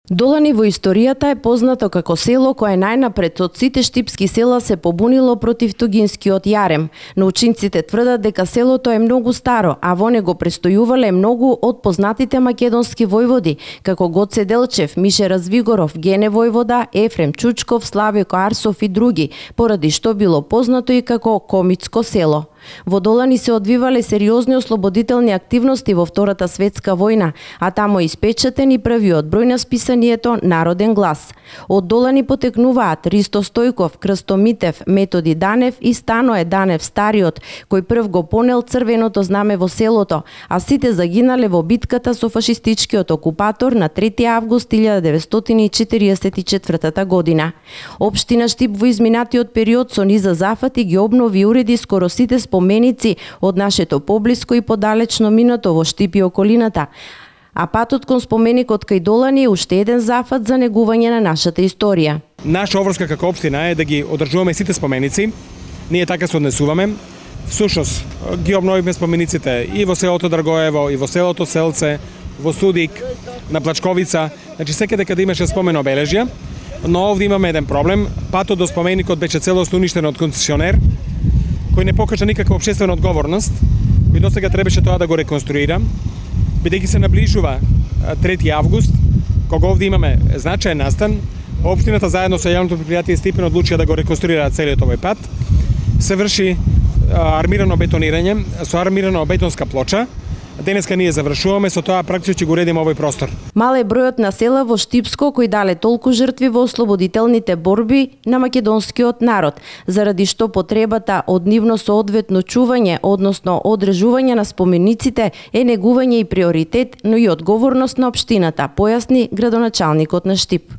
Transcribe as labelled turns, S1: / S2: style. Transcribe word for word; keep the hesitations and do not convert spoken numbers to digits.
S1: Долани во историјата е познато како село кое најнапред од сите штипски села се побунило против тугинскиот јарем. Научниците тврдат дека селото е многу старо, а во него престојувале многу од познатите македонски војводи, како Гоце Делчев, Мише Развигоров, Гене војвода, Ефрем Чучков, Славико Арсов и други, поради што било познато и како Комитско село. Во Долани се одвивале сериозни ослободителни активности во Втората светска војна, а тамо испечатен и првиот број на списанието Народен глас. Од Долани потекнуваат Ристо Стојков, Крсто Митев, Методи Данев и Станое Данев стариот, кој прв го понел црвеното знаме во селото, а сите загинале во битката со фашистичкиот окупатор на трети август илјада деветстотини и четириесет и четвртата година. Општина Штип во изминатиот период со низа зафати ги обнови и уреди скоро сите споменици од нашето поблиско и подалечно минато во Штип и околината, а патот кон споменикот кај Долани е уште еден зафат за негување на нашата историја.
S2: Наша обврска како општина е да ги одржуваме сите споменици. Ние така се однесуваме. Всушност ги обновивме спомениците и во селото Драгоево, и во селото Селце, во Судик, на Плачковица, значи секаде каде имаше спомен обележја, но овде имаме еден проблем. Патот до споменикот беше целосно уништен од концесионер, кој не покажа никаква општествена одговорност, кој досега требаше тоа да го реконструира, бидејќи се наближува трети август, кога овде имаме значаен настан, општината заедно со јавното предпријатие Стипен одлучија да го реконструира целиот овој пат. Се врши армирано бетонирање со армирано бетонска плоча. Денеска ние завршуваме, со тоа практично го уредиме овој простор.
S1: Мал е бројот на села во Штипско кои дале толку жртви во ослободителните борби на македонскиот народ, заради што потребата од нивно соодветно чување, односно одржување на спомениците е негување и приоритет, но и одговорност на општината, појасни градоначалникот на Штип.